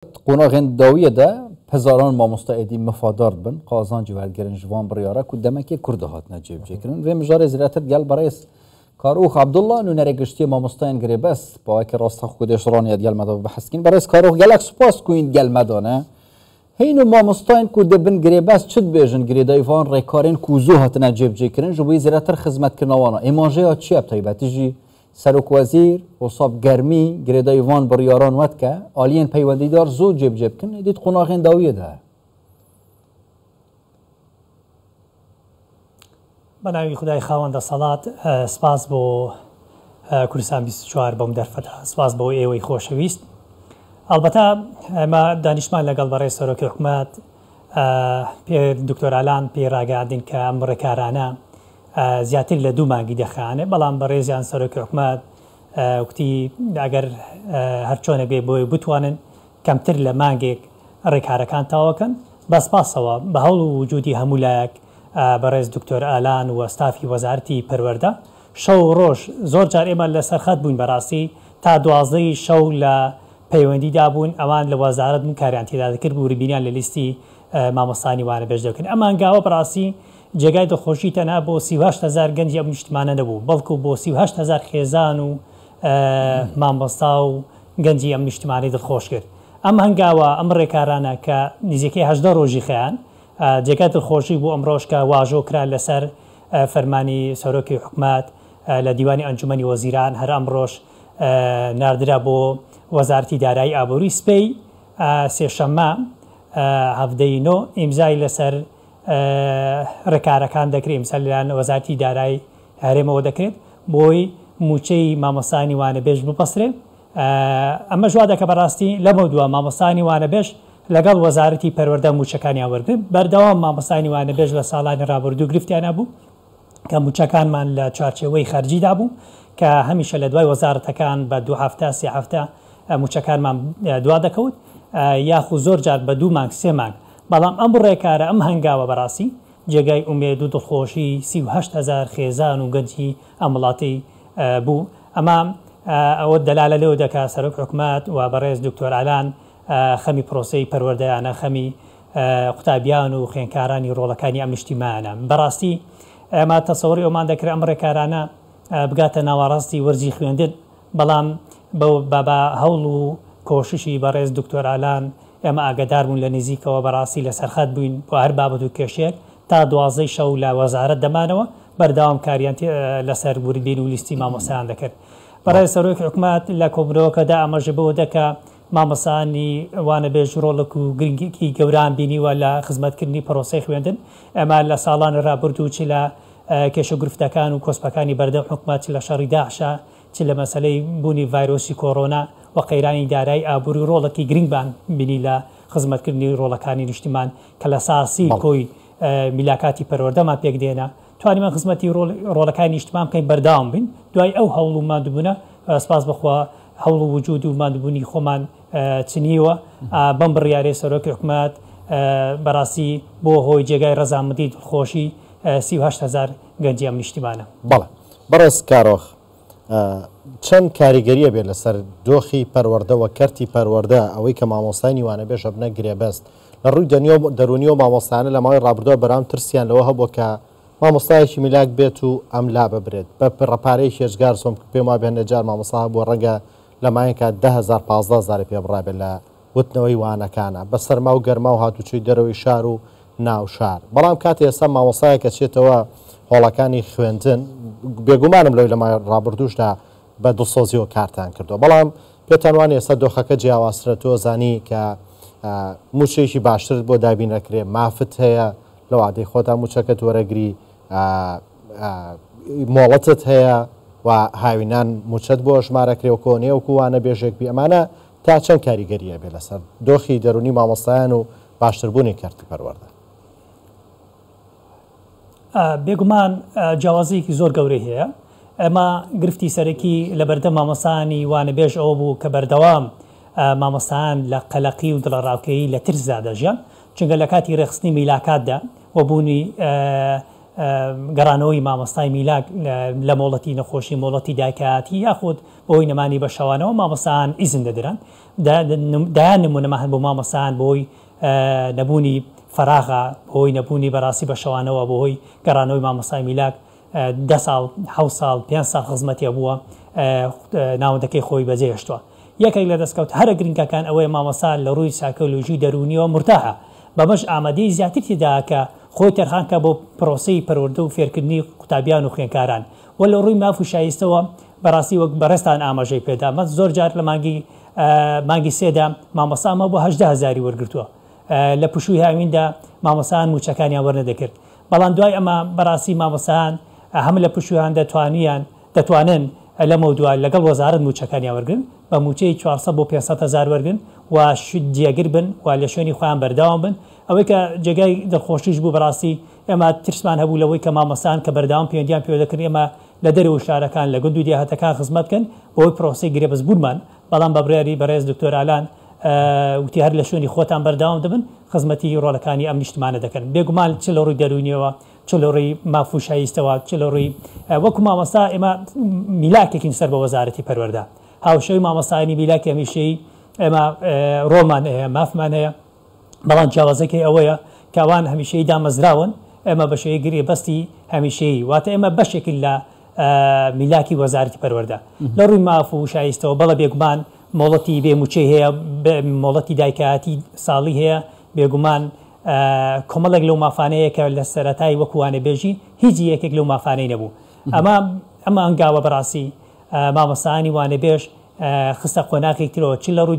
Qonaxên dawiyê de hezaran mamosta êdî mifadar dibin, qazancî werdigirin ji van biryara ku demekê kur de hatine cêbicêkirin. Vê mijarê zêdetir gel birêz Karûx Abdullah nûnerê giştiyê mamostayên girêbest bi awayekî rastxwe ku dê ji raniye gel me de biheskîn. Birêz Karûx gelek spas ku hîn gel me de ne. Hîn û mamostayên ku dibin girêbest çi dibêjin girêdayî van rêkarên ku zû hatine cêbicêkirin ji bo zêdetir xizmetkirina wan a. Êmajeya çi ye bi taybetî jî Serokwezîr wisa bi germî girêdayî van biryaran we dike, aliyên peywendîdar zû cêbicê bikin, êdî di qonaxên dawiyê de ye. بە ناوی خودای خاوەن دەسەڵات سپاس بۆ کوردستان 24 بۆم دەرفەتە سپاس بۆ ئێوەی خۆشەویست ئەڵبەتە ئێمە دانیشتمان لەگەڵ بەڕێز سەرۆکی حکومەت پێ دکتۆر ئالان پێی ڕاگەیاندین کە ئەم ڕێکارانە زیاتر لە دوو مانگی دەخایەنێ، بەڵام بەڕێزیان سەرۆکی حکومەت کوتی ئەگەر هەرچۆنێک بێ بۆی بتوانن کەمتر لە مانگێک ڕێکارەکان تەواوکەن. بە سپاسەوە بە هەوڵ و وجودی هەموو لایەک بەڕێز دکتۆر ئالان و ستافی وەزارەتی پەروەردە شەو و ڕۆژ زۆر جار ئێمە لەسەر خەت بووین بەڕاستی تا دوازدەی شەو لە پەیوەندیدا بوون ئەوان لە وەزارەت بوون کاریان تێدا دەکرد وردبینیان لە لیستی مامۆستانی وانەبێژ دەکرد ئەم هەنگاوە بەڕاستی جێگای دڵخۆشی تەنها بۆ 38 هەزار گەنجی ئەم نیشتمانە نەبوو، بەڵکو بۆ 38 هەزار خێزان و مامۆستا و گەنجی ئەم نیشتمانەی دڵخۆش کرد. ئەم هەنگاوە، ئەم ڕێکارانە کە نزیکەی 18 ڕۆژی خایاند، جێگای دڵخۆشی بوو ئەمڕۆش کە واژۆ کرا لەسەر فەرمانی سەرۆکی حکومەت لە دیوانی ئەنجومەنی وەزیران، هەر ئەمڕۆش ناردرا بۆ وەزارەتی دارایی ئابووری، سبەی سێشەممە 17 ی نۆ ئیمزای لەسەر ڕێکارەکان دەکرێت ئیمزا لەلایەن وەزارەتی دارایی هەرێمەوە دەکرێت بۆی مووچەی مامۆستایانی وانەبێژ ببەسترێت ئەمەش وا دەکە بەڕاستی لەمەودوا مامۆستایانی وانەبێژ لەگەڵ وەزارەتی پەروەردە مووچەکانیان وەرگرن بەردەوام مامۆستایانی وانەبێژ لە ساڵانی ڕابردوو گرفتیان هەبوو کە مووچەکانمان لە چوارچێوەی خەرجیدا بوو کە هەمیشە لە دوای وەزارەتەکان بە دوو هەفتە سێ هەفتە مووچەکانمان دوا دەکەوت یاخو زۆر جار بە دوو مانگ سێ مانگ بەڵام ئەم ڕێکارە ئەم هەنگاوە بەڕاستی جێگای ئومێد و دڵخۆشی 38 هەزار خێزان و گەنجی ئەم وڵاتەی بوو ئەمە ئەوە دەلالە لەوە دەکا سەرۆک حکومەت و بەڕێز دکتۆر ئالان خەمی پرۆسەی پەروەردەیانە خەمی قوتابیان و خوێندکارانی ڕۆڵەکانی ئەم نیشتیمانە. بەڕاستی ئێمە تەسەوری ئەومان دەکرد ئەم ڕێکارانە بگاتە ناوەڕاستی وەرزی خوێندن، بەڵام بە بە هەوڵ و کۆششی بەڕێز دکتۆر ئالان ئێمە ئاگەدار بوون لە نزیکەوە بەڕاستی لەسەر خەت بووین بۆ هەر بابەت و کێشەیەک تا دوازدەی شەو لە وەزارەت دەمانەوە بەردەوام کاریان لەسەر وردبین و لیستی مامۆستایان دەکرد. بەڕێز سەرۆکی حکومەت لە کۆبوونەوەکەدا ئاماژەی بەوە دا کە مامۆستایانی وانەبێژ ڕۆڵێک و گرنگیی گەورەیان بینیوە لە خزمەتکردنی پرۆسەی خوێندن. ئێمە لە ساڵانی ڕابردوو چ لە کێشە و گرفتەکان و کۆسپەکانی بەردەم حکومەت، چ لە شەڕی داعشا، چ لە مەسەلەی بوونی ڤایرۆسی کۆرۆنا و قەیرانی دارایی ئابووری ڕۆڵێکی گرنگمان بینی لە خزمەتکردنی ڕۆڵەکانی نیشتیمان کە لە ساسی کۆی میلاکاتی پەروەردەمان پێکدێنە. توانیمان خزمەتی ڕۆڵەکانی نیشتمان بکەین بەردەوام بین دوای ئەو هەوڵ و ماندووبوونە سپاس بەخوا هەوڵ و وجود و ماندووبوونی خۆمان چنیوە بەم بڕیارەی سەرۆکی حکومەت بەڕاستی بۆ هۆی جێگای ڕەزامەندی دڵخۆشی 38 هەزار گەنجی ئەم نیشتیمانە. بەڵێ بەڕێز کارۆخ چەند کاریگەریە بێت لەسەر دۆخی پەروەردە وە کەرتی پەروەردە ئەوەی کە مامۆستای وانەبێژ ئەبنە گرێبەست لە ڕووی دەروونیەوە مامۆستایانە لە ماوەی ڕابردووە بەرام ترسیان لەوە هەبووە کە مامۆستایەکی میلاک بێت و ئەم لا ببرێت بە بڕە پارەیەکی ئێجگار زۆم پێم وابێ هەندێک جار مامۆستا هەبووە ڕەنگە لە مایەکا 10,000 15 هەزاری پێ بڕابێت لە وتنەوەی وانەکانە بە سەرما و گەرما و هاتوچۆی دەرەوەی شار و ناو شار بەڵام کاتێ ئێستا مامۆستایەک ئەچێتەوە هۆڵەکانی خوێندن بێگومانم لەوەی لە ماوەی ڕابردووشدا بە دڵسۆزیەوە کارتان کردووە بەڵام پێتان وانە ئێستا دۆخەکە جیاوازترە تۆ زانی کە موچەیەکی باشترت بۆ دابین ئەکرێ مافت هەیە لە وادەی خۆتا موچەکەت وەرەگری مۆڵەتت هەیە و هاوینان موچەت بۆ ژمارەکرێ و کۆنێ وەکو وانە بێژێک بی ئەمانە تا چەند کاریگەری ئەبێ لەسەر دۆخی دەرونی مامۆستایان و باشتربوونی کەرتی پەروەردە؟ بێگومان جیاوازییەکی زۆر گەورەی هەیە. ئێمە گرفتی سەرەکی لەبەردەم مامۆستایانی وانەبێژ ئەوە بوو کە بەردەوام مامۆستایان لە قەلەقی و دڵەڕاوکێی لە ترسدا دەژیان، چونکە لە کاتی ڕێکخستنی میلاکاتدا و بوونی گەڕانەوەی مامۆستای میلاک لە مۆڵەتی نەخۆشی، مۆڵەتی دایکایەتی یاخود بەهۆی نەمانی بەشەوانەوە مامۆستایان ئیزن دەدران. دەیان نمونەمان هەن بۆ مامۆستایان بەهۆی نەبوونی فەراغە، بەهۆی نەبوونی بەڕاستی بەشەوانەوە، بەهۆی گەڕانەوەی مامۆستای میلاک دە ساڵ، حەوت ساڵ، پێنج ساڵ خزمەتی هەبووە ناوەندەکەی خۆی بەجێهێشتووە. یەکێک لە دەستکەوتە هەرە گرنگەکان ئەوەیە مامۆستا لە ڕووی سایکۆلۆژی و دەروونیەوە مورتاحە، بەمەش ئامادەیی زیاتری تێدایە کە خۆی تەرخان بکات بۆ پرۆسەی پەروەردە و فێرکردنی قوتابیان و خوێندکاران و لە ڕووی ماف و شایستەوە بەڕاستی وەک بەڕێزتان ئاماژەی پێدا مە زۆر جار لە مانگی مانگی سێدا مامۆستا ئەمە بۆ 18 هەزاری وەرگرتووە لە پشووی هاویندا مامۆستایان مووچەکانیان وەرنەدەکرد بەڵام دوای ئەمە بەڕاستی مامۆستایان هەم لە پشوویان دەتوانیان دەتوانن لەمەودوا لەگەڵ وەزارەت مووچەکانیان وەرگرن، بە مووچەی 400 بۆ 500 هەزار وەرگرن و جێگر بن و لە شوێنی خۆیان بەردەوام بن. ئەوەی کە جێگای دڵخۆشیش بوو بەڕاستی ئێمە ترسمان هەبوو لەوەی کە مامۆستایان کە بەردەوام پەیوەندیان پێوە دەکردین ئێمە لە دەرەوەی شارەکان لە گوند و دێهاتەکان خزمەت بکەن بەهۆی پرۆسەی گرێبەست بوونمان، بەڵام بە بڕیاری بەڕێز دکتۆر ئالان وتی هەر لە شوێنی خۆتان بەردەوام دەبن خزمەتی ڕۆڵەکانی ئەم نیشتمانە دەکەن. بێگومان چ لە ڕووی دەروونیەوە چ لە ڕووی ماف و شایستەوە، چ لە ڕووی وەکو مامۆستا ئێمە میلاکێکین سەر بە وەزارەتی پەروەردە، هاوشێوەی مامۆستایانی میلاکی هەمیشەیی ئێمە ڕۆڵمان هەیە، مافمان هەیە، بەڵام جیاوازەکەی ئەوەیە کە ئەوان هەمیشەیی دامەزراون، ئێمە بە شێوەی گرێبەستی هەمیشەیی، واتە ئێمە بەشێکین لە میلاکی وەزارەتی پەروەردە لە ڕووی ماف و شایستەوە. بەڵێ بێگومان مۆڵەتی بێ مووچەی هەیە، مۆڵەتی دایکایەتی ساڵی هەیە، بێگومان کۆمەڵێک لەو مافانەیە کە لە سەرەتای وەکو وانەبێژی هیچ یەکێک لەو مافانەی نەبوو. ئەمە ئەمە هەنگاوە بەڕاستی مامۆستایانی وانەبێژ خستە قۆناغێک ترەوە، چ لە ڕووی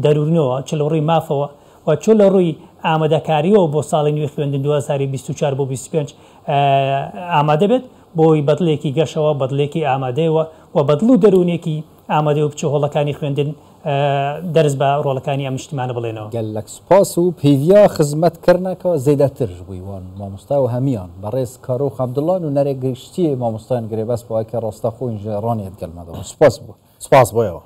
دەروونەوە، چ لە ڕووی مافەوە و چ لە ڕووی ئامادەکاریەوە بۆ ساڵی نوێی خوێندن 2024 بۆ 25 ئامادە بێت بۆی بەدڵێکی گەشەوە، بەدڵێکی ئامادەیەوە و بەدڵ و دەروونێکی ئامادەیەوە بچێ هۆڵەکانی خوێندن دەرس بە ڕۆڵەکانی ئەم نیشتمانە بڵێنەوە. گەلەک سپاس و پێڤیا خزمەت کرنەکە زێدەتر ژ بووی وان مامۆستا و هەمیان بەڕێز کارۆخ عەبدوڵا نوونەرێ گشتیێ مامۆستایان گرێبەست بۆ ئەکە ڕاستەخۆین ژ ڕانیەت گەل مەدەوە سپاس بوو. سپاس بۆ ئێوە.